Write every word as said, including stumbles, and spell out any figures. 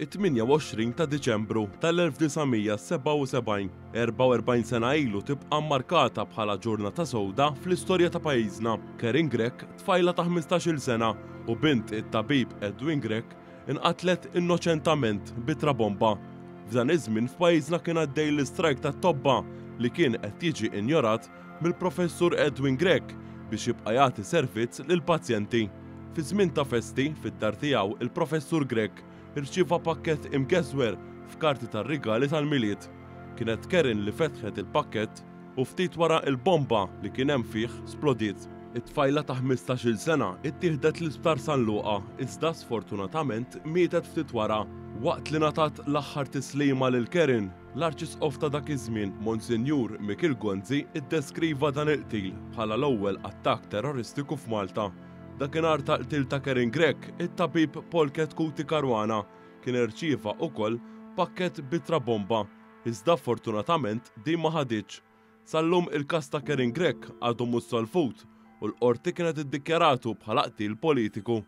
It-tmienja u għoxrin ta' Diċembru tal-elf disa' mija sebgħa u sebgħin, erbgħa u erbgħin sena ilu, tibqa' mmarkata bħala ġurnata sewda fl-istorja ta' pajjiżna. Karin Grech, tfajla ta' ħmistax-il sena u bint it-tabib Edwin Grech, inqatlet innoċentament b'ittra bomba. F'dan iż-żmien f'pajjiżna kien għaddej l-istrajk tat-tobba li kien qed jiġi injorat mill-Professur Edwin Grech biex jibqa' jagħti servizz lill-pazjenti. Fi żmien ta' festi, fid-dar tiegħu il-Professur Grech irċieva pakkett imgeżwer f'karti tar-rigali tal-Milied. Kienet Karin li fetħet il-pakkett u ftit wara il-bomba li kien hemm fih splodiet. It-tfajla ta' ħmistax-il sena ittieħdet l-Isptar San Luqa iżda sfortunatament mietet ftit wara. Waqt li ngħatat l-aħħar tislima lil Karin, l-Arċisqof ta' dak iż-żmien, Monsinjur Mikiel Gonzi, iddeskriva dan il-qtil bħala l-ewwel attakk terroristiku f'Malta. Dakinhar tal-qtil ta' Karin Grech, it-tabib Paul Chetcuti Caruana kien irċieva wkoll pakkett bitra bomba, iżda fortunatament din ma ħaditx. Sal-lum il-każ ta' Karin Grech għadu mhux solvut u l-qorti kienet iddikjaratu bħala qtil politiku.